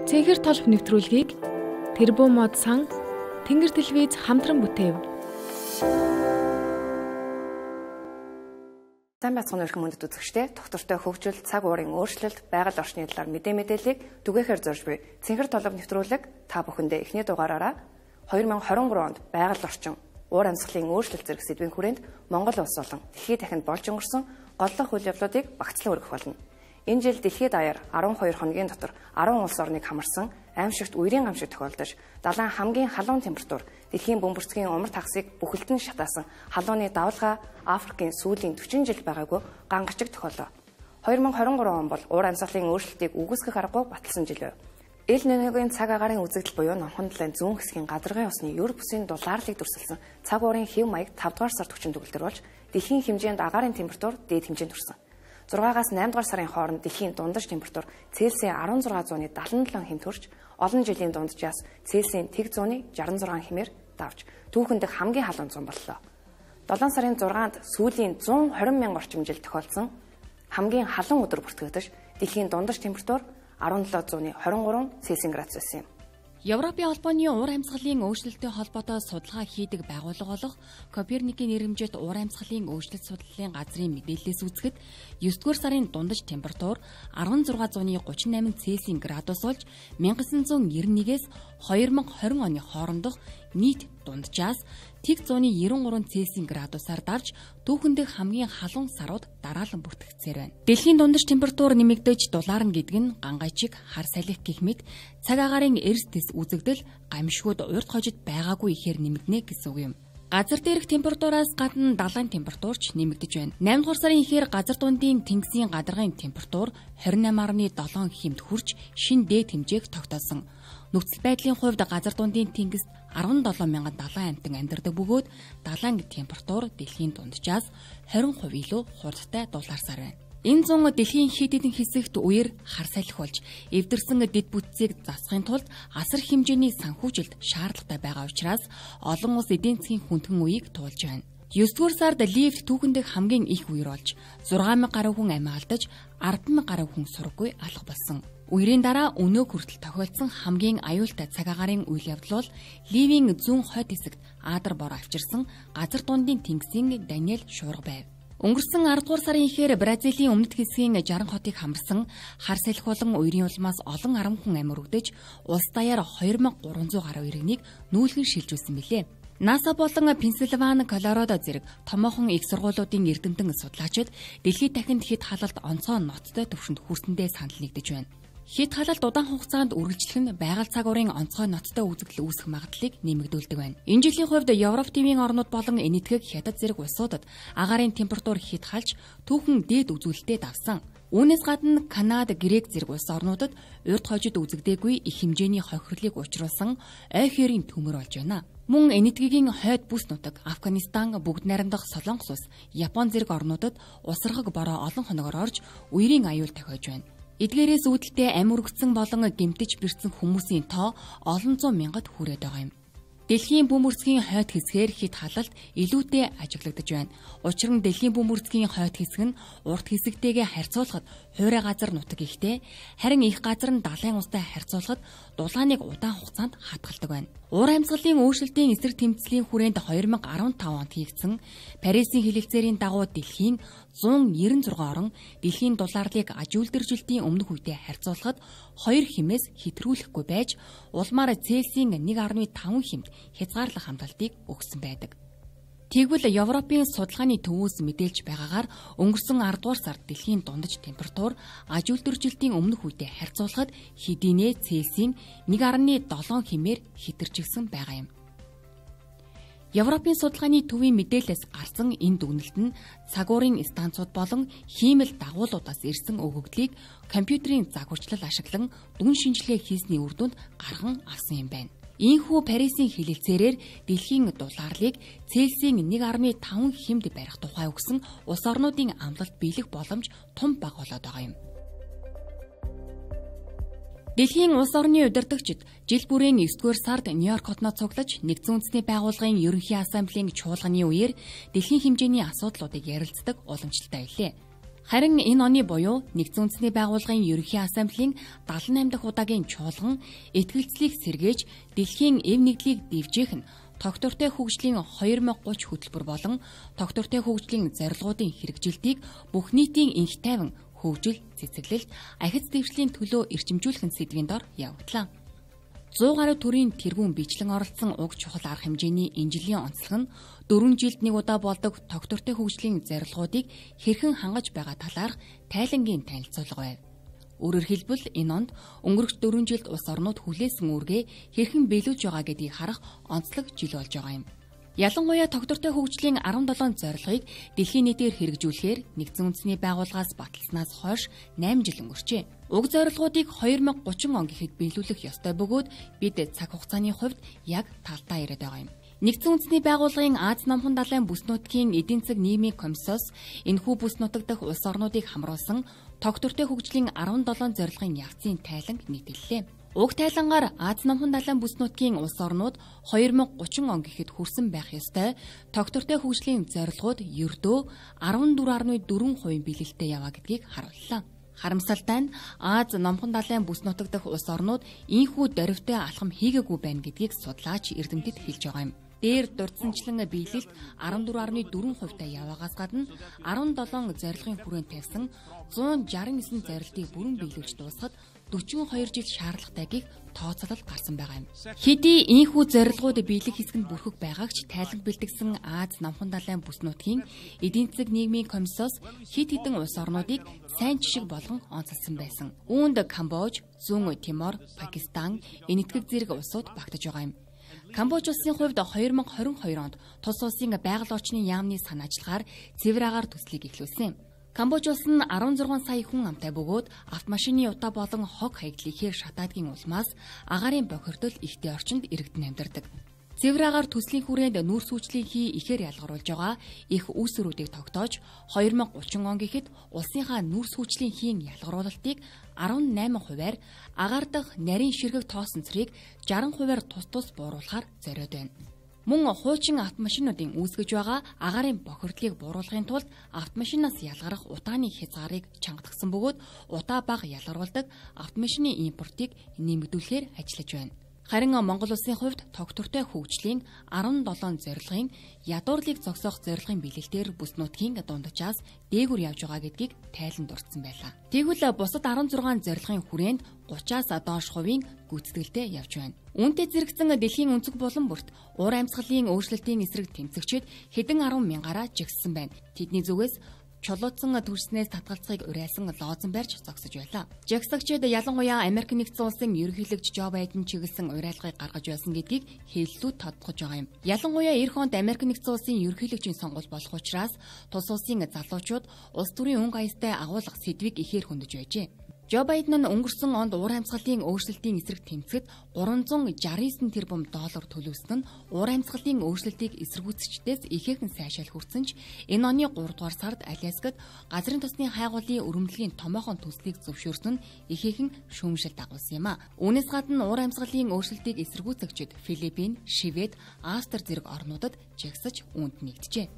Цэнхэр толб нэвтрүүлгийг Тэрбум мод сан Тэнгэр телевиз хамтран бүтээв. Сайн байцгаана өрхөн мөндөд үзэгчдээ доктортой хөгжил, цаг уурын өөрчлөлт, байгаль орчны талаар мэдээллийг түгээхээр зорж буй Цэнхэр толб нэвтрүүлэг та бүхэндээ эхний дугаараараа 2023 онд байгаль орчин, уур амьсгалын өөрчлөлт зэрэг сэдвийн хүрээнд Монгол улс болон дэлхийд дахинд болж өнгөрсөн голлох үйл явдлуудыг багцлан өргөх болно. Энэ жил дэлхийд даяар 12 хоногийн дотор 10 улс орныг хамарсан аимшигт үерийн гамшиг тохиолдож, далайн хамгийн халуун температур дэлхийн бөмбөрцгийн умар тагсыг бүхэлдэн шатаасан халууны давалгаа Африкийн сүүлийн 40 жил байгаагүй гангачиг тохиолоо. 2023 он бол уур амьсгалын өөрчлөлтийг үгүйсгэх аргагүй баталсан жил байв. Эл Ниногийн цаг агаарын үзэгдэл буюу номхон далайн зүүн хэсгийн гадаргын усны ер бүсийн дулаарлыг дүрсэлсэн цаг уурын хэв маяг 5 дугаар сард хүчин төгөлдөр болж дэлхийн хэмжээнд агаарын температур дээд хэмжээнд хүрсэн. 6-аас 8 дугаар сарын хооронд дэлхийн дундаж температур Цельсийн 1677 хэмт хүрч, олон жилийн дунджаас Цельсийн тэг зууны 66 хэмээр давж, түүхэн дэх хамгийн халуун зун боллоо. 7 сарын 6-нд сүүлийн 120 мянга орчим жил тохиолдсон хамгийн халуун өдөр бүртгэгдэж, дэлхийн дундаж температур 1723 Цельсийн градус байсан юм. Европын холбооны уур амьсгалын өөрчлөлттэй холбоотой судалгаа хийдэг байгууллага болох Коперникийн нэрэмжит уур амьсгалын өөрчлөлт судлалын газрын мэдээллээс үзэхэд 9-р сарын дундаж температур 1638 Цельсийн градус болж 1991-ээс 2020 оны хоорондох нийт дунджаас тэг 193 Цельсийн градусаар дарж түүхэндх хамгийн халуун сарууд дараалан бүртгэгдсээр байна. Дэлхийн дундаж температур нэмэгдэж дулаарна гэдэг нь гангайчиг, хар салхи гэх мэт цаг агаарын эрс дэс үзэгдэл гамшигуд урт хожид байгаагүй ихээр нэмэгдэнэ гэсэн үг юм. Газар дээрх температураас гадна далайн температурч нэмэгдэж байна. 8 дугаар сарын ихээр газар дундын тэнгисийн гадаргын температур 28.7 хэмт хүрч шин дээд хэмжээг тогтоосон. Нөхцөл байдлын хувьд газар дундын тэнгист 17,000 далайн амьтан амьдардаг бөгөөд далайн температур дэлхийн дунджаас 20% илүү хурдтай дулаарсаар байна. Энэ зун дэлхийн хэд хэдэн хэсэгт үер хар салхи болж эвдэрсэн дэд бүтцийг засахын тулд асар хэмжээний санхүүжилт шаардлагатай байгаа учраас олон улс эдийн засгийн хүндхэн үеийг туулж байна. 9-р сард лифт түүхэндх хамгийн их үер болж 6,000 гаруй хүн амиа алдаж 10,000 гаруй хүн сургаггүй алга болсон. Үерийн дараа өнөө хүртэл тохиолдсон хамгийн аюултай цаг агаарын үйл явдал бол Ливийн зүүн хойд хэсэгт Адар бор авчирсан газар дундын тэнгисийн Даниэль шуурга байв. Өнгөрсөн 10 дугаар сарын ихээр Бразилийн өмнөд хэсгийн 60 хотыг хамарсан хар салхи болон үерийн улмаас олон 10 хүн амь өргөдөж, улс даяар 2300 гаруй иргэнийг нүүлгэн шилжүүлсэн билээ. НАСА болон Пенсильвани, Колорадо зэрэг томоохон их сургуулиудын эрдэмтэн судлаачид дэлхийд дахинд хэд халалт онцгой ноцтой түвшинд хүрсэндээ санал нэгдэж байна. Хэд халалт удаан хугацаанд үргэлжлэх нь байгаль цаг уурын онцгой ноцтой үзэгдэл үүсэх магадлалыг нэмэгдүүлдэг байна. Энэ жилийн хувьд Европ тивийн орнууд болон энэтхэг хятад зэрэг улсуудад агаарын температур хэд халж түүхэн дээд үзүүлэлтэд давсан. Үүнээс гадна Канада, Грек зэрэг улс орнуудад урд хожид үзэгдээгүй их хэмжээний хохирлыг учруулсан ой хэрийн төмөр болж байна. Мөн энэтхэгийн хойд бүс нутаг, Афганистан, бүгд найрамдах Солонгос улс, Япон зэрэг орнуудад усаргаг бороо олон хоногор орж үерийн аюул тохиож байна. Эдгээрээс үүдэлтэй амь өргөцсөн болон гэмтэж бэрцсэн хүмүүсийн тоо олон зуун мянгад хүрээд байгаа юм. Дэлхийн бөмбөрцгийн хойд хэсгээр хэд халалт илүүтэй ажиглагдаж байна. Учир нь дэлхийн бөмбөрцгийн хойд хэсэг нь урт хэсэгтэйгээ харьцуулахад хуурай газар нутаг ихтэй, харин их газар нь далайн устай харьцуулахад дулааныг удаан хугацаанд хатгалдаг байна. Уур амьсгалын өөрчлөлтийн эсрэг тэмцлийн хүрээнд 2015 онд хийгдсэн Парисын хэлэлцээрийн дагуу дэлхийн 196 орн дэлхийн дулаарлыг аж үйлдвэржилтийн өмнөх үедээ харьцуулахад 2 хэмээс хэтрүүлэхгүй байж улмаар Цельсийн 1.5 хэмт хязгаарлах хамталтыг өгсөн байдаг. Тэгвэл Европын судалгааны төвөөс мэдээлж байгаагаар өнгөрсөн 10 дугаар сард дэлхийн дундаж температур аж үйлдвэржилтийн өмнөх үедээ харьцуулахад хэдийнэ Цельсийн 1.7 хэмээр хэтэрчилсэн байгаа юм. Европын судалгааны төвийн мэдээлэлээс гарсан энэ дүгнэлт нь цаг уурын станцууд болон хиймэл дагуулуудаас ирсэн өгөгдлийг компьютерийн загварчлал ашиглан дүн шинжилгээ хийсний үр дүнд гарган авсан юм байна. Ийхүү Парисын хэлэлцээрээр дэлхийн дулаарлыг Цельсийн 1.5 хэмд барих тухай өгсөн улс орнуудын амлалт биелэх боломж том бага болоод байгаа юм. Дэлхийн улс орны удирдагчид жил бүрийн 9-р сард Нью-Йорк хотноо цуглаж Нэгдсэн үндэсний байгууллагын ерөнхий ассамблеийн чуулганы үеэр дэлхийн хэмжээний асуудлуудыг ярилцдаг уламжлалтай байлээ. Харин энэ оны буюу Нэгдсэн үндэсний байгууллагын ерөнхий ассамблеийн 78 дахь удаагийн чуулган итгэлцлийг сэргээж дэлхийн эв нэгдлийг дэвжээх нь тогтвортой хөгжлийн 2030 хөтөлбөр болон тогтвортой хөгжлийн зорилгоодын хэрэгжилтийг бүх нийтийн энх тайван хөгжил, цэцэглэлт, ахиц дэвшлийн төлөө эрчимжүүлэх сэдвийн дор явагдлаа. 100 гаруй төрлийн тэргүүн бичлэн оролцсон уг чухал арга хэмжээний энэ жилийн онцлог нь 4 жилд нэг удаа болдог тогтвортой хөгжлийн зорилгоодыг хэрхэн хангаж байгаа талаарх тайлангийн танилцуулга байв. Өөрөөр хэлбэл энэ онд өнгөрөх 4 жилд улс орнууд хүлээсэн үүргээ хэрхэн биелүүлж байгаа гэдгийг харах онцлог жил болж байгаа юм. Ялангуяа тогтвортой хөгжлийн 17 зорилгыг дэлхийн нийтээр хэрэгжүүлэхээр Нэгдсэн үндэсний байгууллагаас баталснаас хойш 8 жил өнгөрчээ. Уг зорилгоодыг 2030 он гэхэд биелүүлэх ёстой бөгөөд бид цаг хугацааны хувьд яг талдаа ирээд байгаа юм. Нэгдсэн үндэсний байгууллагын Аз намхан далайн бүс нутгийн эдийн засаг нийгмийн комиссоос энэхүү бүс нутаг дахь улс орнуудыг хамруулсан тогтвортой хөгжлийн 17 зорилгын явцын тайланг нийтэллээ. Уг тайлангаар Аз намхан далайн бүс нутгийн улс орнууд 2030 он гэхэд хүрсэн байх ёстой тогтвортой хөгжлийн зорилгууд ердөө 14.4% биелэлтэд яваа гэдгийг харууллаа. Харамсалтай нь Аз намхан далайн бүс нутаг дахь улс орнууд ийхүү дөрвтэй алхам хийгээгүй байна гэдгийг судлаач эрдэмтэд хэлж байгаа юм. Дээр дурдсанчлан биелэлт 14.4%-тай яваагаас гадна 17 зорилгын хүрээнд тавьсан 169 зорилтыг бүрэн биелүүлж дуусгахад 42 жил шаардлагатай гэх тооцоолол гарсан байгаа юм. Хэдий ийхүү зорилгууд биелэх хэсгэнд бүрхэг байгаагч тайланг бэлтгэсэн Аз намхан далайн бүс нутгийн эдийн засаг нийгмийн комиссоос хэд хэдэн улс орнуудыг сайн жишг болгон онцлсан байсан. Үүнд Камбож, Зүүн Тимор, Пакистан, Энэтхэг зэрэг улсууд багтаж байгаа юм. Камбож улсын хувьд 2022 онд тус улсын байгаль орчны яамны санаа ажиллагаар цэвэр агаар төслийг эхлүүлсэн. Камбож улс нь 16 сая хүн амтай бөгөөд автомашины утаа болон хог хаягдлыг ихээр шатаадгийн улмаас агаарын бохирдол ихтэй орчинд иргэдэн амьдардаг. Цэвэр агаар төслийн хүрээнд нүүр сүлжлийн хий ихээр ялгаруулж байгаа их үүсвэрүүдийг тогтоож 2030 он гэхэд улсынхаа нүүр сүлжлийн хийн ялгаруулалтыг 18%-аар агаар дахь нарийн ширхэг тоосон цэрийг 60%-аар тус бууруулахаар зориод байна. Мөн хуучин автомашинуудын үүсгэж байгаа агаарын бохирдлыг бууруулахын тулд автомашинаас ялгарах утааны хязгаарыг чангадагсан бөгөөд утаа бага ялгаруулдаг автомашины импортыг нэмэгдүүлэхээр ажиллаж байна. Харин Монгол улсын хувьд тогтвортой хөгжлийн 17 зорилгын ядуурлыг зогсоох зорилгын биелэлтээр бүс нутгийн дундчаас дээгүр явж байгаа гэдгийг тайлан дурдсан байлаа. Тэгвэл бусад 16 зорилгын хүрээнд 30-аас доош хувийн гүйцэтгэлтэй явж байна. Үүнтэй зэрэгцэн дэлхийн өнцөг булан бүрт уур амьсгалын өөрчлөлтийн эсрэг тэмцэгчид хэдэн 10 мянгаараа жигссэн байна. Тэдний зүгээс чулуутсан төрснээс татгалзахыг уриалсан лоозон барьж зогсож байлаа. Жагсагчид ялангуяа Америк нэгдсэн улсын ерөнхийлөгч Жо Байден чиглэсэн уриалгыг гаргаж байсан гэдгийг хэллүүд тодтогч байгаа юм. Ялангуяа эх онд Америк нэгдсэн улсын ерөнхийлөгчийн сонгуул болох учраас тус улсын залуучууд улс төрийн өнгө аястай агуулга сэдвийг ихээр хөндөж байжээ. Жо Байден нь өнгөрсөн онд уур амьсгалын өөрчлөлтийн эсрэг тэмцэхэд 369 тэрбум доллар төлөвлөсөн нь уур амьсгалын өөрчлөлтийг эсэргүүцэгчдээс ихээхэн сайшаал хүрсэн ч энэ оны 3 дугаар сард Аляскад газрын тосны хайгуулын өрөмдлөгийн томоохон төслийг зөвшөөрсөн нь ихээхэн шүүмжил дагуулсан юм а. Үүнээс гадна уур амьсгалын өөрчлөлтийг эсэргүүцэгчид Филиппин, Швед, Австри зэрэг орнуудад жагсаж үүнд нэгджээ.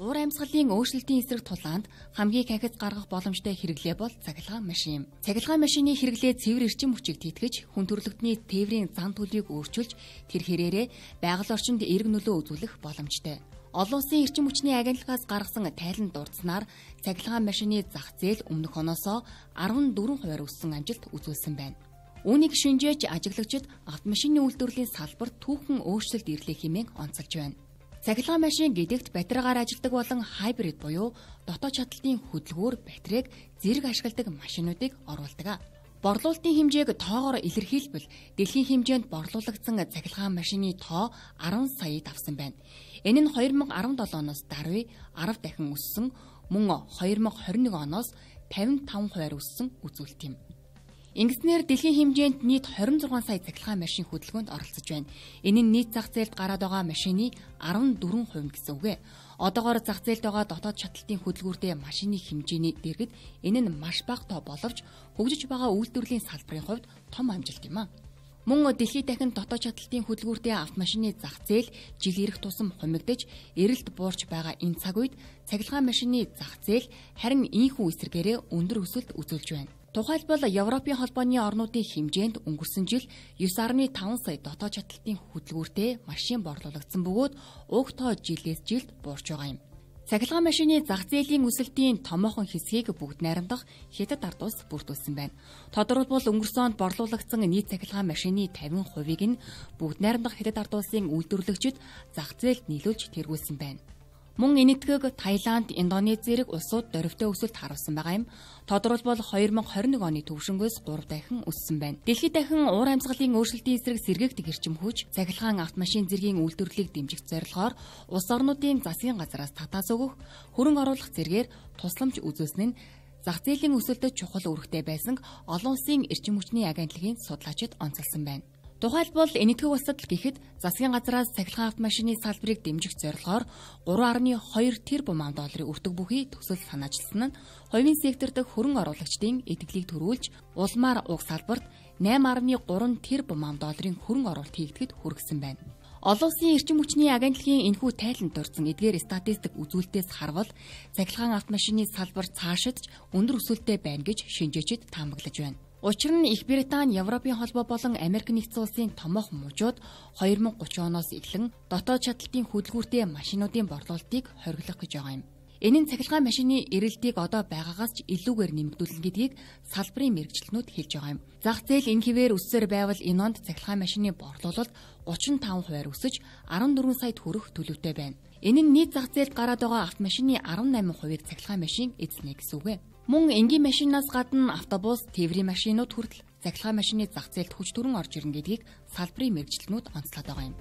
Уур амьсгалын өөрчлөлтийн эсрэг тулаанд хамгийн ахиц гаргах боломжтой хэрэглээ бол цахилгаан машин юм. Цахилгаан машины хэрэглээ цэвэр эрчим хүчийг тэтгэж, хүн төрөлхтний тээврийн зан төлөвийг өөрчилж, тэр хэрээрээ байгаль орчинд эерэг нөлөө үзүүлэх боломжтой. Олон улсын эрчим хүчний агентлагаас гаргасан тайланд дурдсанаар цахилгаан машины зах зээл өмнөх оноосоо 14% өссөн амжилт үзүүлсэн байна. Үүнийг шинжээж ажиглагчид автомашины үйлдвэрлэлийн салбарт түүхэн өөрчлөлт ирлээ хэмээн онцолж байна. Цахилгаан машин гэдэгт батарейгаар ажилладаг болон хайбрид буюу дотоод шаталтын хөдөлгүүр батарейг зэрэг ашигладаг машинуудыг оруулдаг. Борлуулалтын хэмжээг тоогоор илэрхийлбэл дэлхийн хэмжээнд борлуулагдсан цахилгаан машины тоо 10 саяд авсан байна. Энэ нь 2017 оноос даруй 10 дахин өссөн, мөн 2021 оноос 55% өссөн үзүүлэлт юм. Ингэснээр дэлхийн хэмжээнд нийт 26 сая цахилгаан машин хөдөлгөөнд оролцож байна. Энэ нь нийт зах зээлд гараад байгаа машины 14% гэсэн үг ээ. Одоогоор зах зээлд байгаа дотоод шаталтын хөдөлгүүртэй машины хэмжээний дэргэд энэ нь маш бага тоо боловч хөгжиж байгаа үйлдвэрлэлийн салбарын хувьд том амжилт юм а. Мөн дэлхийд дахин дотоод чадлтын хөдөлгүүртэй автомашины зах зээл жил ирэх тусам хумигдаж, эрэлт буурч байгаа энэ цаг үед цахилгаан машины зах зээл харин ийхүү эсрэгээрээ өндөр өсөлт үзүүлж байна. Тухайлбал Европын холбооны орнуудын хэмжээнд өнгөрсөн жил 9.5 сая дотоод чадлтын хөдөлгүүртэй машин борлуулагдсан бөгөөд уг тоо жилээс жилд буурч байгаа юм. Цахилгаан машины зах зээлийн өсөлтийн томоохон хэсгийг бүгд найрамдах Хятад ард улс бүрдүүлсэн байна. Тодорхойлбол өнгөрсөн онд борлуулагдсан нийт цахилгаан машины 50%-ийг нь бүгд найрамдах Хятад ард улсын үйлдвэрлэгчид зах зээлд нийлүүлж тэргүүлсэн байна. Мөн энэ нэтгийг Таиланд, Индонез зэрэг улсууд дөрвтэй өсөлт харуулсан байгаа юм. Тодорхойлбол 2021 оны төвшнгөөс 3 дахин өссөн байна. Дэлхийд дахин уур амьсгалын өөрчлөлтийн эсрэг сэргээгдэх эрчим хүч, цахилгаан автомашин зэргийн үйлдвэрлэлийг дэмжих зорилгоор улс орнуудын засгийн газраас татаас өгөх, хөрөнгө оруулах зэргээр тусламж үзүүлсэн нь зах зээлийн өсөлтөд чухал үүрэгтэй байсан олон улсын эрчим хүчний агентлагийн судлаачид онцолсон байна. Тухайлбал энэтхэг улсад гэхэд засгийн газраас цахилгаан автомашины салбарыг дэмжих зорилгоор 3.2 тэрбум долларын өртөг бүхий төсөл санаачилсан нь хувийн сектор дахь хөрөнгө оруулагчдын итгэлийг төрүүлж улмаар уг салбарт 8.3 тэрбум долларын хөрөнгө оруулалт хийгдэхэд хүргэсэн байна. Олон улсын эрчим хүчний агентлагийн энэхүү тайланд дурдсан эдгээр статистик үзүүлэлтээс харвал цахилгаан автомашины салбар цаашидж өндөр өсөлттэй байна гэж шинжээчид таамаглаж байна. Учир нь Их Британи, Европын холбоо болон Америк нэгдсэн улсын томоохон мужууд 2030 оноос эхлэн дотоод чадлтын хөдөлгүүртэй машинуудын борлуулалтыг хориглох гэж байгаа юм. Энэ нь цахилгаан машины эрэлтийг одоо байгаагаас ч илүүгээр нэмэгдүүлнэ гэдгийг салбарын мэргэжилтнүүд хэлж байгаа юм. Зах зээл энэ хിവэр өссөөр байвал энэ онд цахилгаан машины борлуулалт 35% өсөж 14 сая төгрөг төлөвтэй байна. Энэ нь нийт зах зээлд гараад байгаа автомашины 18%-ийг цахилгаан машин эзэлнэ гэсэн үг. Мөн энгийн машинаас гадна автобус, тээврийн машинууд хүртэл цахилгаан машины зах зээлд хүч төрөн орж ирнэ гэдгийг салбарын мэргэжилтнүүд онцлоод байгаа юм.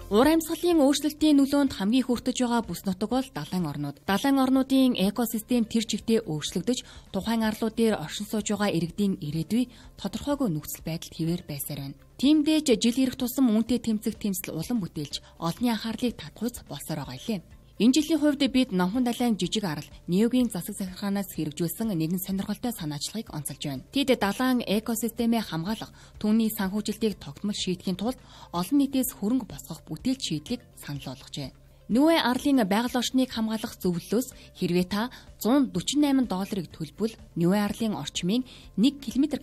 Уур амьсгалын өөрчлөлтийн нөлөөнд хамгийн хүртэж байгаа бүс нутаг бол далайн орнууд. Далайн орнуудын экосистем тэр чигтээ өөрчлөгдөж, тухайн арлууд дээр оршин сууж байгаа иргэдийн ирээдүй тодорхойгүй нөхцөл байдалд хിവэр байсаар байна. Тиймдээч жил ирэх тусам үүнтэй тэмцэх тэмцэл улам бүтээлж, олонний анхаарлыг татгууц болсоор байгаа юм. Энэ жилийн хувьд бид номхон далайн жижиг арал Неогийн засаг захиргаанаас хэрэгжүүлсэн нэгэн сонирхолтой санаачлагыг онцолж байна. Тэд далайн экосистемээ хамгаалах, түүний санхүүжилтийг тогтмол шийдэхийн тулд олон нийтээс хөрөнгө босгох бүтээл шийдлийг санал болгожээ. Нүүэ арлын байгаль орчныг хамгаалах зөвлөлөөс хэрвээ та $148 төлбөл Нүүэ арлын орчмын 1 км2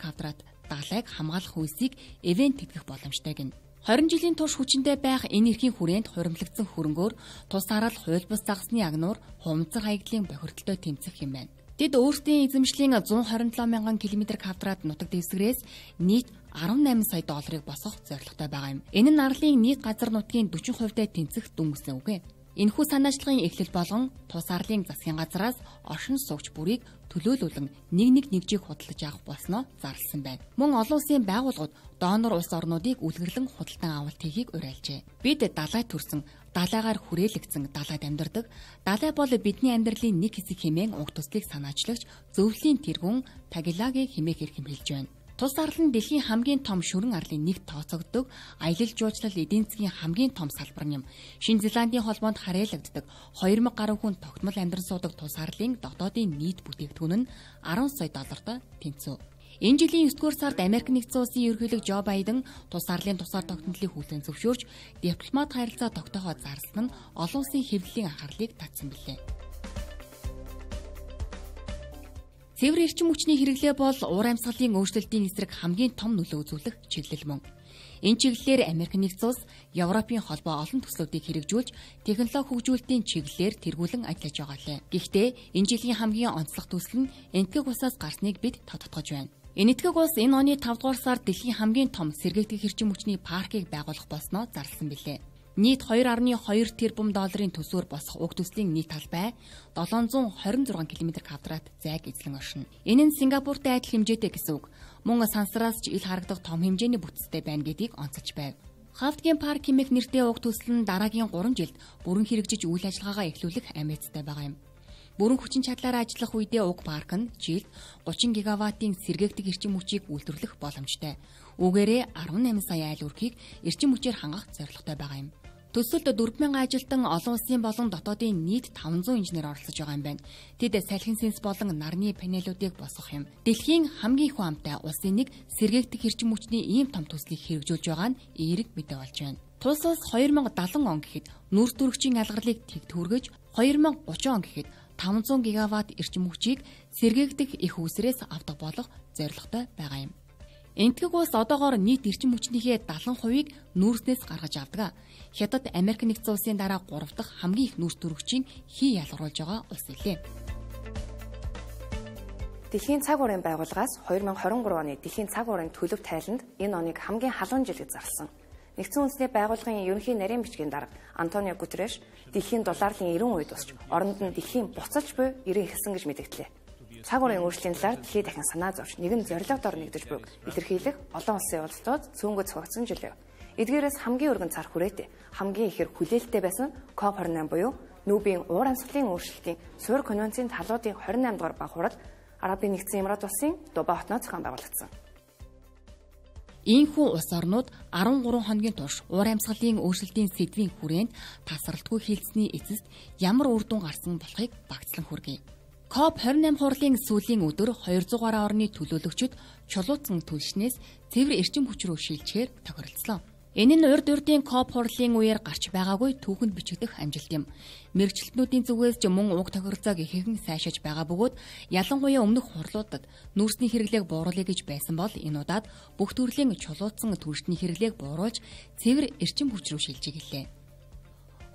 далайг хамгаалах үйлсийг эвент тэтгэх боломжтой гэнэ. 20 жилийн турш хүчинтэй байх энэ эрхийн хүрээнд хуримтлагдсан хөрөнгөөр тус арал хууль бус загсны агнуур хумцар хаягдлын бохирдолтой тэмцэх юм байна. Тэд өөрсдийн эзэмшлийн 127 мянган км2 нутаг дэвсгэрээс нийт $18 сая босгох зорилготой байгаа юм. Энэ нь арлын нийт газар нутгийн 40%-тай тэнцэх дүн гэсэн үг. Энэхүү санаачлагын эхлэл болгон тус арлын засгийн газраас оршин суугч бүрийг төлөөлүүлэн нэг нэгжийг худалдаж авах болсноо зарласан байна. Мөн олон улсын байгууллагууд донор улс орнуудыг үлгэрлэн худалдан авалт хийхийг уриалжээ. Бид далай төрсөн, далайгаар хүрээлэгдсэн далайд амьдардаг. Далай бол бидний амьдралын нэг хэсэг хэмээн уг төслийг санаачлагч зөвлөлийн тэргүүн Тагилаги хэмээх хэрэг хэлж байна. Тус арал нь дэлхийн хамгийн том шүрэн арлын нэг тооцогддог аялал жуулчлал эдийн засгийн хамгийн том салбар юм. Шинэ Зеландийн холбоонд харьяалагддаг 2000 гаруй хүн тогтмол амьдран суудаг тус арлын дотоодын нийт бүтээгдэхүүн нь $10 сая тэнцэв. Энэ жилийн 9-р сард Америк нэгдсэн улсын ерөнхийлөг Жо Байден тус арлын тусаар тогтнолыг хүлээн зөвшөөрч дипломат харилцаа тогтооход зарласан нь олон улсын хэвлэлийн анхаарлыг татсан билээ. Цэвэр эрчим хүчний хэрэглээ бол уур амьсгалын өөрчлөлтийн эсрэг хамгийн том нөлөө үзүүлэх чиглэл мөн. Энэ чиглэлээр Америк нэгдсэн улс, Европын холбоо олон төслүүдийг хэрэгжүүлж, технологи хөгжүүлэлтийн чиглэлээр тэргүүлэн ажиллаж байгаа лээ. Гэхдээ энэ жилийн хамгийн онцлог төсөл нь энэтхэг улсаас гарсныг бид тодтогч байна. Энэтхэг улс энэ оны 5 дугаар сард дэлхийн хамгийн том сэргээгдэх эрчим хүчний паркийг байгуулах болсноо зарласан билээ. Нийт $2.2 тэрбум төсвөр босгох уг төслийн нийт талбай 726 км2 зайг эзлэн оршино. Энэ нь Сингапуртай адил хэмжээтэй гэсэн үг. Мөн сансраас ч ил харагдах том хэмжээний бүтцтэй байна гэдгийг онцолж байв. Хавтгийн парк хэмээх нэртэй уг төсөл нь дараагийн 3 жилд бүрэн хэрэгжиж үйл ажиллагаагаа эхлүүлэх амицтай байгаа юм. Бүрэн хүчин чадлаараа ажиллах үедээ уг парк нь жилд 30 гигаваттын сэргээгдэх эрчим хүчийг үйлдвэрлэх боломжтой. Үүгээрээ 18 сая айл өрхийг эрчим хүчээр хангах зорилготой байгаа юм. Төсөлд 4,000 ажилтан олон улсын болон дотоодын нийт 500 инженер оролцож байгаа юм байна. Тэд салхин сэнс болон нарны панелуудыг босгох юм. Дэлхийн хамгийн их амтай улсын нэг сэргээгдэх эрчим хүчний ийм том төслийг хэрэгжүүлж байгаа нь эерэг мэдээ болж байна. Тус улс 2070 он гэхэд нүүрс төрөгчийн алгарлыг тэгт хүргэж 2030 он гэхэд 500 гигаватт эрчим хүчийг сэргээгдэх их үүсрээс авдаг болох зорилготой байгаа юм. Энэтхэг улс одоогоор нийт эрчим хүчнийхээ 70%-ийг нүүрснээс гаргаж авдаг. Хятад Америк нэгдсэн улсын дараа 3 дахь хамгийн их нүүрс төрөгчийн хий ялгаруулж байгаа улс илээ. Дэлхийн цаг уурын байгууллагаас 2023 оны Дэлхийн цаг уурын төлөв тайланд энэ оныг хамгийн халуун жил гэж зарласан. Нэгдсэн үндэсний байгууллагын ерөнхий нарийн бичгийн дарга Антонио Гутерреш дэлхийн долларын 90 үед тусч оронд нь дэлхийн буцалж буй ирэн эхэлсэн гэж мэдгдлээ. Цаг уурын өөрчлөлийн талаар дэлхийд дахин санаа зовж нэгэн зорилго дор нэгдэж буйг илэрхийлэх олон улсын уулзалтууд цөөнгөө зохицсон жилээ. Эдгээрээс хамгийн өргөн цар хүрээтэй хамгийн ихээр хүлээлттэй байсан COP28 буюу нүүбийн уур амьсгалын өөрчлөлтийн суурь конвенцийн талуудын 28 дугаар баг хурал Арабын нэгдсэн Эмират улсын Дубай хотноо зохион байгуулагдсан. Ийхүү улс орнууд 13 хоногийн турш уур амьсгалын өөрчлөлтийн сэдвийн хүрээнд тасралтгүй хилцсэний эцэст ямар үр дүн гарсан болохыг багцлан хүргэе. COP28 хурлын сүүлийн өдөр 200 гаруй орны төлөөлөгчид чулуутсан түлшнээс цэвэр эрчим хүч рүү шилжихээр тохиролцлоо. Энэ нь урд урдын COP хурлын үеэр гарч байгаагүй түүхэнд бичигдэх амжилт юм. Мэргэжилтнүүдийн зүгээс ч мөн уг тохиролцоог ихэнх сайшааж байгаа бөгөөд ялангуяа өмнөх хурлуудад нүүрсний хэрэглээг бууруулъя гэж байсан бол энэ удаад бүх төрлийн чулуутсан түлшний хэрэглээг бууруулж цэвэр эрчим хүч рүү шилжиж гэлээ.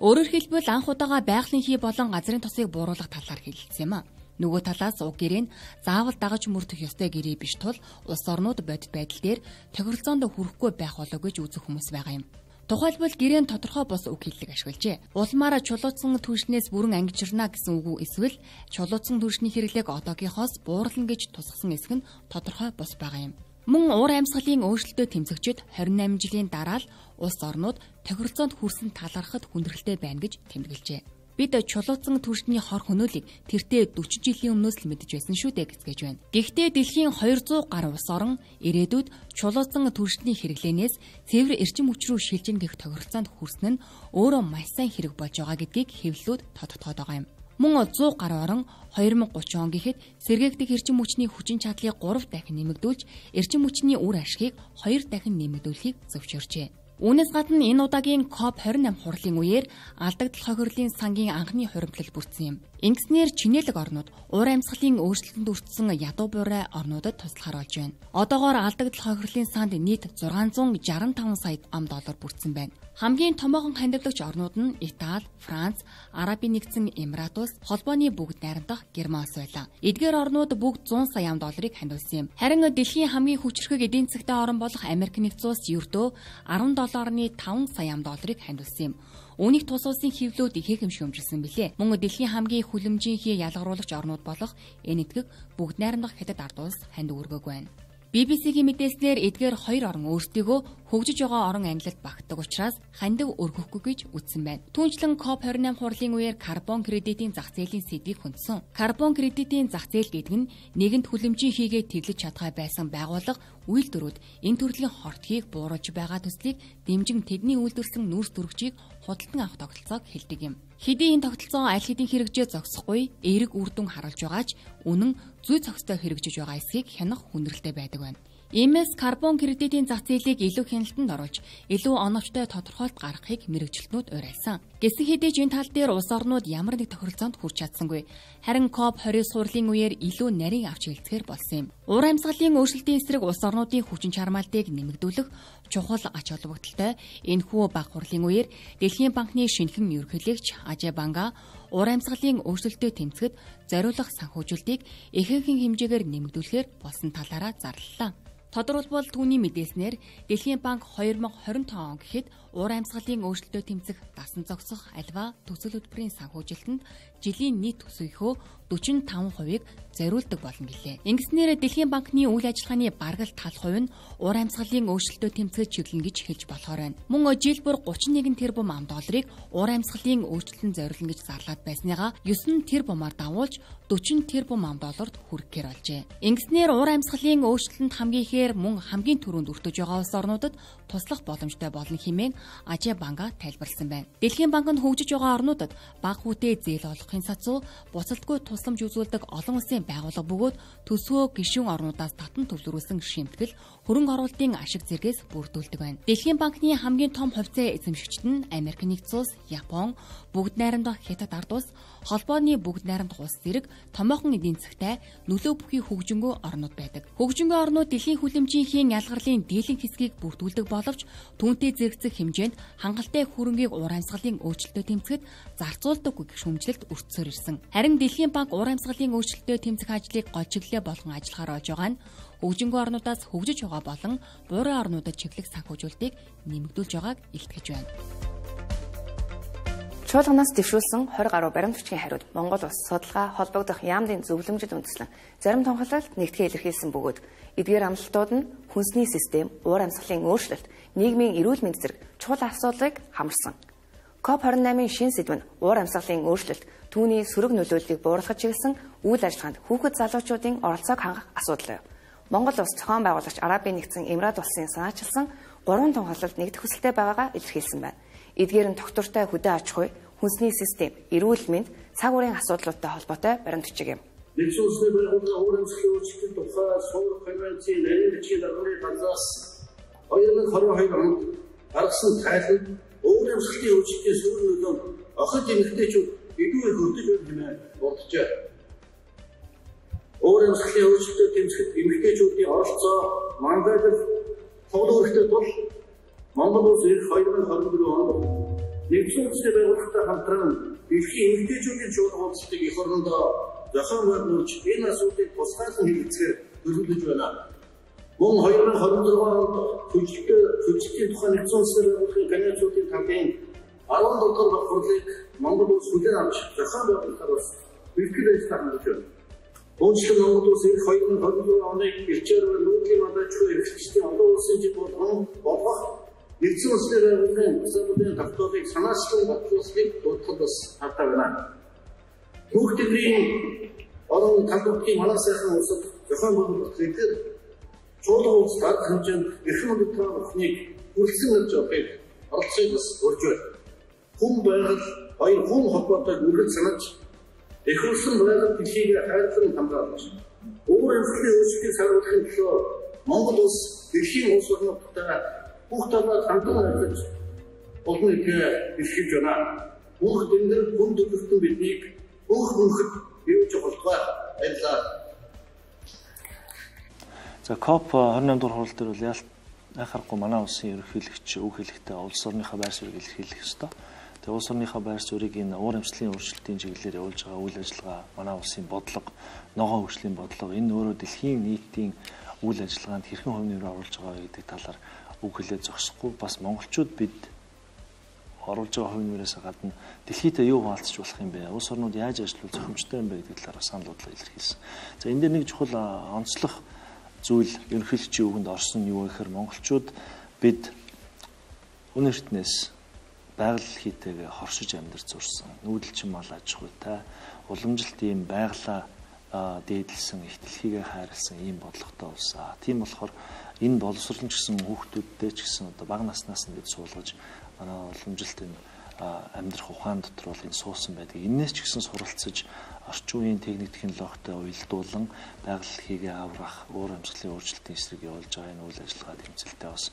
Өөрөөр хэлбэл анх удаага байгалийн хий болон газрын тосыг бууруулах талаар хэлсэн юм а. Нөгөө талаас уг гэрээн заавал дагаж мөрдөх ёстой гэрээ биш тул улс орнууд бодит байдал дээр тохиролцоонд хүрэхгүй байх болов гэж үзэх хүмүүс байгаа юм. Тухайлбал гэрээн тодорхой бос үг хэллэг ашиглажээ. Улмаараа чулуутсан түлшнээс бүрэн ангижирна гэсэн үг үү эсвэл чулуутсан түлшний хэрэглээг одоогийнхоос буурлна гэж тусгасан эсэх нь тодорхой бос байгаа юм. Мөн уур амьсгалын өөрчлөлтөд тэмцэгчид 28 жилийн дараа л улс орнууд тохиролцоонд хүрсэн талархад хүндрэлтэй байна гэж тэмдэглэжээ. Бид чулуутсан түлшний хор хөнөөлийг тэртээ 40 жилийн өмнөөс л мэдэж байсан шүү дээ гэж байна. Гэхдээ дэлхийн 200 гаруй улс орн ирээдүйд чулуутсан түлшний хэрэглэнээс цэвэр эрчим хүч рүү шилжин гэх тохиролцоонд хүрсэн нь өөрөө маш сайн хэрэг болж байгаа гэдгийг хэвлэлүүд тодтогдоод байгаа юм. Мөн 100 гаруй орн 2030 он гэхэд сэргээгдэх эрчим хүчний хүчин чадлыг 3 дахин нэмэгдүүлж эрчим хүчний үр ашгийг 2 дахин нэмэгдүүлэхийг зөвшөөрчээ. Үүнээс гадна энэ удаагийн COP28 хурлын үеэр алдагдал хохирлын сангийн анхны хуримтлал бүрдсэн юм. Ингэснээр чинэлэг орнууд уур амьсгалын өөрчлөлтөнд өртсөн ядуу буурай орнуудад туслахаар болж байна. Одоогоор алдагдал хохирлын санд нийт 665 сая $. Бүрдсэн байна. Хамгийн томоохон хандивлагч орнууд нь Итали, Франц, Арабын нэгдсэн Эмират улс, холбооны бүгд найрамдах Герман улс байлаа. Эдгээр орнууд бүгд $100 сая хандивсан юм. Харин дэлхийн хамгийн хүчрхэг эдийн засгийн орн болох Америк нэгдсэн улс ердөө $10.5 сая хандивсан юм. Үүнийг тус улсын хэвлүүд ихээхэн шүүмжилсэн билээ. Мөн дэлхийн хамгийн хүлэмжийнхээ ялгаруулагч орнууд болох энэтхэг бүгд найрамдах Хятад ард улс ханд өргөөг байна. BBC-гийн мэдээлснээр эдгээр хоёр орн өөрсдийгөө хөгжиж байгаа орон анилалд багтдаг учраас хандив өргөхгүй гэж үзсэн байна. Түүнчлэн COP28 хурлын үеэр карбон кредитийн зах зээлийн сэдвийг хүндсэн. Карбон кредитийн зах зээл гэдэг нь нэгэнт хүлэмжийн хийгээ тэглэж чадхай байсан байгууллага үйлдвэрүүд энэ төрлийн хортгийг бууруулж байгаа төслийг дэмжин тэдний үйлдвэрлэсэн нүүрс төрөгчийг худалдан авах тогтолцоог хэлдэг юм. Хэдий энэ тогтолцоо аль хэдийн хэрэгжээ зогсохгүй эерэг үр дүн харуулж байгаа ч үнэн зүй зохистой хэрэгжиж байгаа эсхийг хянах хүндрэлтэй байдаг байна. Иймээс карбон кредитийн зах зээлийг илүү хяналтанд оруулж илүү оновчтой тодорхойлт гаргахыг мэргэжилтнүүд уриалсан. Гэсэн хэдий ч энэ тал дээр улс орнууд ямар нэг тохиролцоонд хүрч чадсангүй. Харин COP20 сурлын үеэр илүү нарийн авч хэлцгээр болсон юм. Уур амьсгалын өөрчлөлтийн эсрэг улс орнуудын хүчин чармаалтыг нэмэгдүүлэх чухал ач холбогдолтой энэхүү баг хурлын үеэр Дэлхийн банкны шинэхэн ерөнхийлөгч Ажай Банга уур амьсгалын өөрчлөлтөд тэмцэхэд зориулах санхүүжилтийг ихэнхэн хэмжээгээр нэмэгдүүлэхээр болсон талаараа зарлалаа. Тодорхойлбол түүний мэдээлснээр Дэлхийн банк 2025 он гэхэд уур амьсгалын өөрчлөлтөд тэмцэх дасан зогсох альва төсөл хөтөлбөрийн санхүүжилтэнд жилийн нийт төсвийнхөө 45%-ыг зориулдаг болно гэлээ. Ингэснээр Дэлхийн банкны үйл ажиллагааны бараг тал хувь нь уур амьсгалын өөрчлөлтөд тэмцэж чиглэнэ гэж хэлж болохоор байна. Мөн жил бүр 31 тэрбум $. Уур амьсгалын өөрчлөлтөнд зориулна гэж зарлаад байсныгаа 9 тэрбумаар давуулж 40 тэрбум $-д хүрэхээр болжээ. Ингэснээр уур амьсгалын өөрчлөлтөнд хамгийн ихээр мөн хамгийн түрүүнд өртөж байгаа улс орнуудад туслах боломжтой болно хэмээн Ажia банка тайлбарласан байна. Дэлхийн банк нь хөгжиж байгаа орнуудад бага хүүтэй зээл олгохын сацуу буцалтгүй тусламж үзүүлдэг олон улсын байгууллага бөгөөд төсвөө гишүүн орнуудаас татан төвлөрүүлсэн шимтгэл хөрөнгө оруулалтын ашиг зэргээс бүрдүүлдэг байна. Дэлхийн банкны хамгийн том хувьцаа эзэмшигчид нь Америк нэгдсэн улс, Япон, Бүгд найрамдах Хятад ард улс, холбооны Бүгд найрамдах улс зэрэг томоохон эдийн засгтай нөлөө бүхий хөгжингөө орнууд байдаг. Хөгжингөө орнууд дэлхийн хүлэмжийн ялгарлын дийлэн хэсгийг бүрдүүлдэг боловч түүнтэй зэрэгцэх хэмжээнд хангалттай хөрөнгийг уур амьсгалын өөрчлөлтөд тэмцэхэд зарцуулдаггүй гэх шүүмжлэлт өртсөөр ирсэн. Харин Дэлхийн банк уур амьсгалын өөрчлөлтөд тэмцэх ажлыг гол чиглэлээ болгон ажиллахаар болж байгаа нь хөгжингөө орнуудаас хөгжиж байгаа болон буурай орнуудад чиглэх санхүүжүүлэлтийг нэмэгдүүлж байгааг илтгэж байна. Чуулганаас дэвшүүлсэн 20 гаруй баримтчгийн хариуд Монгол улс судалгаа холбогдох яамдын зөвлөмжөд үндэслэн зарим тунхаглалд нэгтгэе илэрхийлсэн бөгөөд эдгээр амлалтууд нь хүнсний систем, уур амьсгалын өөрчлөлт, нийгмийн эрүүл мэнд зэрэг чухал асуудлыг хамарсан. COP28-ын шин сэдв нь уур амьсгалын өөрчлөлт, түүний сөрөг нөлөөллийг бууруулахад чиглэсэн үйл ажиллагаанд хүүхэд залуучуудын оролцоог хангах асуудал. Монгол улс зохион байгуулагч Арабын нэгдсэн Эмират улсын санаачилсан 3 тунхаглалд нэгдэх хүсэлтэй байгаагаа илэрхийлсэн байна. Эдгээр нь доктортой хөдөө аж ахуй, хүнсний систем, эрүүл мэнд, цаг уурын асуудлуудтай холбоотой баримт бичиг юм. Нэгдсэн улсны байгууллагын уур амьсгалын өөрчлөлтийн тухай Суур конвенцийн нарийн бичгийн дарганы талаас 2022 онд гаргасан тайлбар уур амьсгалын өөрчлөлтийн сөрөг нөлөө охид эмэгтэйчүүд эдгээр хөрдөж байна хэмээн дурджээ. Уур амьсгалын өөрчлөлтөд тэмцэхэд эмэгтэйчүүдийн оролцоо мандатыг төвлөрөхтэй тул Монгол улс 2024 онд нэгдсэн улсын байгууллагатай хамтран дэлхийн эмэгтэйчүүдийн чуулган уулзалтыг эх орондоо зохион байгуулж энэ асуудлыг тусгайлан хэлэлцгээр төлөвлөж байна. Мөн 2026 онд хүчтэй тухай нэгдсэн улсын байгууллагын конвенцийн талын 17 дахь хурлыг Монгол улс хүлээн авч зохион байгуулахаар бас бэлтгэл ажиллагаа хангаж байна. Өөрчлөлт Монгол улс 2024 оны ирчээр нүүдлийн мандатчгүй эрхлэгчдийн олон улсын жиг болгох нэгдсэн улсын байгууллагын асуудлын тогтоолыг санаачлан батлуулахыг дуудахад бас хатаа байна. Хүүхдийн орон талбартын манай сайхан улсад зохион байгуулалт зэрэг чуулган улс дарга хэмжээнд эрхэм мэдрэлийн ухныг хүргэсэн гэж явахыг оролцоог бас урьж байна. Хүн байгаль хоёр хүн холбоотой үргэлж санаж эхлүүлсэн байгаль дэлхийг хайрлан хамгаалж уур амьсгалын өөрчлөлтийг саруулахын төлөө Монгол улс дэлхийн улс орнуудтай бүх талаар хамтран ажиллаж олон нийтээ бэлтгэж байна. Бүх дэнгэр хүн төрөлхтөн биднийг бүх хүнхэд бивж холдгоо ажиллаа. За COP28 дугаар хурал дээр бол яхахгүй манай улсын ерөнхийлөгч үг хэлэхдээ улс орныхаа байр суурийг илэрхийлэх ёстой. Тэгээ улс орныхаа байр суурийг энэ уур амьсгалын өөрчлөлтийн чиглэлээр явуулж байгаа үйл ажиллагаа манай улсын бодлого, ногоон хөгжлийн бодлого энэ өөрөө дэлхийн нийтийн үйл ажиллагаанд хэрхэн хувь нэмрээ оруулж байгаа гэдэг талаар үг хэлээд зогсохгүй бас монголчууд бид оруулж байгаа хувь нэмрээс гадна дэлхийдээ юу хаалцж болох юм бэ? Улс орнууд яаж ажиллавал зохимжтой юм бэ гэдэг талаар санал бодлого илэрхийлсэн. За энэ дээр нэг чухал онцлог зүйл ерөнхийлөгчийн үгэнд орсон юу гэхээр монголчууд бид өнөө эртнээс байгаль хийтэйгээ хоршиж амьдарч зурсан. Нүүдэлчин мал аж ахуйтай, уламжилт ийм байгалаа дээдлсэн, их дэлхийгээ хайрлсан ийм бодлоготой улсаа. Тийм болохоор энэ боловсролч гэсэн хүүхдүүдтэй ч гэсэн одоо бага наснаас нь бид суулгаж манай уламжилт энэ амьдрах ухаан дотор бол энэ суусан байдаг. Иннээс ч гэсэн суралцаж орчин үеийн техник технологитой уялдуулан байгаль хийгээ аврах, уур амьсгалын өөрчлөлтийн эсрэг явуулж байгаа энэ үйл ажиллагаа тэмцэлтэй бас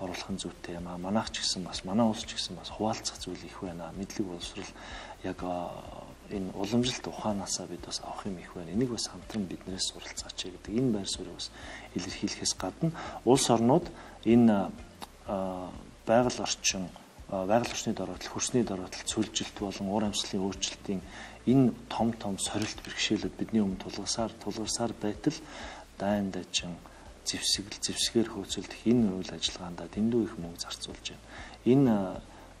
оруулах нь зүйтэй юм аа. Манайх ч гэсэн бас манай улс ч гэсэн бас хуваалцах зүйл их байна. Мэдлэг боловсрол яг энэ уламжилт ухаанаасаа бид бас авах юм их байна. Энийг бас хамтран биднээс суралцаач гэдэг энэ байр суурийг бас илэрхийлэхээс гадна улс орнууд энэ байгаль орчин, байгаль орчны дороотлол, хөрсний дороотлол, цөлжилт болон уур амьсгалын өөрчлөлтийн энэ том сорилт бэрхшээлүүд бидний өмнө тулгарсаар байтал дайн дажин зэвсгээр хөөцөлдөх энэ үйл ажиллагаанд дэндүү их мөнгө зарцуулж байна. Энэ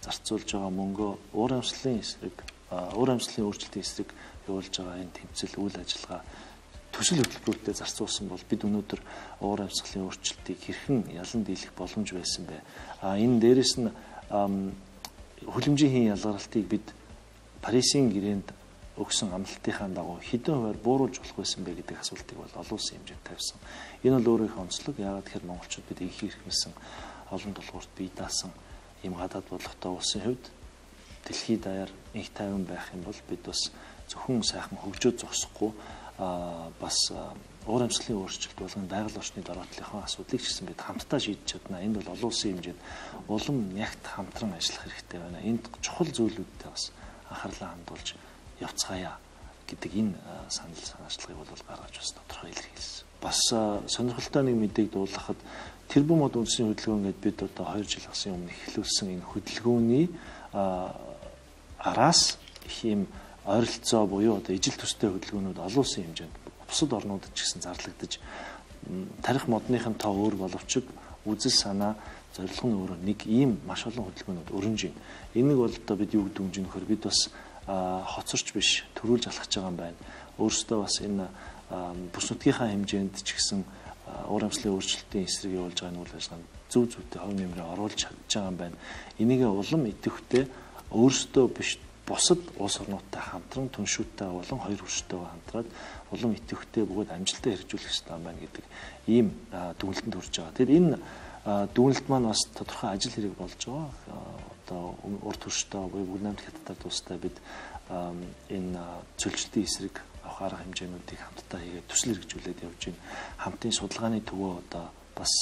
зарцуулж байгаа мөнгөө уур амьсгалын өөрчлөлтийн эсрэг явуулж байгаа энэ тэмцэл үйл ажиллагаа төсөл хөтөлбөрүүдэд зарцуулсан бол бид өнөөдөр уур амьсгалын өөрчлөлтийг хэрхэн ялан дийлэх боломж байсан бэ? Энэ дээрэс нь хүлэмжийн ялгарлалтыг бид Парисын гэрээнд өгсөн амлалтынхаа дагуу хэдэн хувиар бууруулж болох байсан бэ гэдэг асуултыг бол олон улсын хэмжээнд тавьсан. Энэ бол өөрөө их онцлог. Яагаад тэгэхээр монголчууд бид их хэрэгмэсэн олон тулгуурт бие даасан ийм гадаад бодлоготой улсын хувьд дэлхийд даяар их тайван байх юм бол бид бас зөвхөн сайхан хөгжөөд зогсохгүй бас уур амьсгалын өөрчлөлт болгон байгаль орчны дараатлынхаа асуудлыг ч гэсэн бид хамтдаа шийдэж чадна. Энд бол олон улсын хэмжээнд улам ягт хамтран ажиллах хэрэгтэй байна. Энд чухал зүйлүүдтэй бас анхаарлаа хандуулж явцгаая гэдэг энэ санаачлагыг бол гаргаж бас тодорхой илэрхийлсэн. Бас сонирхолтой нэг мэдээг дуулгахад тэрбум мод үндэсний хөдөлгөөн гэдээ бид одоо 2 жил гарсан өмнө эхлүүлсэн энэ хөдөлгөөний араас их юм ойролцоо буюу одоо ижил төстэй хөдөлгөөнүүд олон улсын хэмжээнд бусад орнуудад ч гэсэн зарлагдаж тарих модныхын тоо өөр боловч үзэл санаа зорилго нь өөр нэг ийм маш олон хөдөлгөөнүүд өрнөж байна. Энийг бол одоо бид юу гэдэг юм нөхөр бид бас хоцорч биш төрүүлж алхаж байгаа юм байна. Өөрөөсөө бас энэ бүс нутгийнхаа хэмжээнд ч гэсэн уур амьсгалын өөрчлөлтийн эсрэг явуулж байгаа үйл ажиллагаанд зөв зөвтэй хувь нэмрээ оруулж чадж байгаа юм байна. Энийг улам идэвхтэй өөрөөсөө биш бусад улс орнуудтай хамтран түншүүттэй болон хоёр хөрштэйгээ хамтраад улам идэвхтэй бөгөөд амжилттай хэрэгжүүлэх хэрэгтэй юм байна гэдэг ийм дүгнэлтэнд хүрч байгаа. Тэгэхээр энэ дүгнэлт маань бас тодорхой ажил хэрэг болж байгаа. Одоо урт хөрштэй буюу бүгд намт хятадтай тустай бид энэ цөлжилтийн эсрэг авах арга хэмжээнүүдийг хамтдаа хийгээд төсөл хэрэгжүүлээд явж байна. Хамтын судалгааны төвөө одоо бас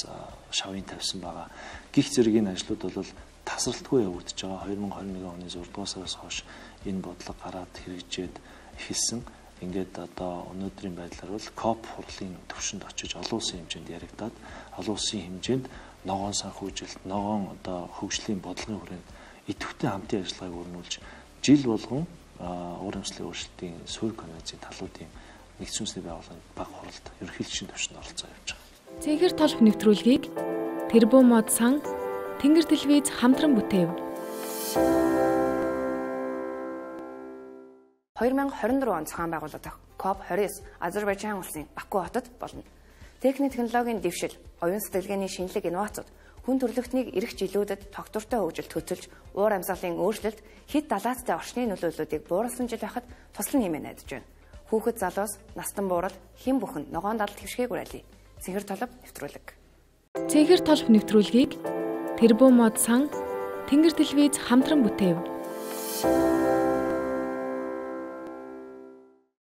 шавын тавьсан байгаа. Гих зэрэг энэ ажлууд бол тасралтгүй явагдаж байгаа. 2021 оны 6 дугаар сараас хойш энэ бодлого гараад хэрэгжээд эхэлсэн. Ингээд одоо өнөөдрийн байдлаар бол КОП хурлын төвшөнд очиж олон улсын хэмжээнд яригадаад олон улсын хэмжээнд ногоон санхүүжилт, ногоон одоо хөгжлийн бодлогын хүрээнд идэвхтэй хамтын ажиллагааг өрнүүлж жил болгон уур амьсгалын өөрчлөлтийн суурь конвенцийн талуудын нэгдсэн үндэсний байгууллагын баг хуралд ерөнхийлөгчийн төвшөнд оролцоо явж байгаа. Цэнхэр толб нэвтрүүлгийг тэрбум мод сан Тэнгэр телевиз хамтран бүтээв. 2024 он зохион байгуулагдах COP29 Азербайджан улсын Баку хотод болно. Техник технологийн дэвшил, оюун сэтгэлгээний шинэлэг инновацууд, хүн төрөлхтнийг эх жилүүдэд тогтвортой хөгжилд хөцөлж, уур амьсгалын өөрчлөлт, хэд далаацтай орчны нөлөөллүүдийг бууруулсан жил байхад туслан хэмээн найдаж байна. Хүүхэд залуус, настан буурал, хэн бүхэнд ногоон далд хэвшгээг уриалъя. Цэнхэр толб нэвтрүүлэг. Цэнхэр толб нэвтрүүлгийг тэрбум мод сан Тэнгэр телевиз хамтран бүтээв.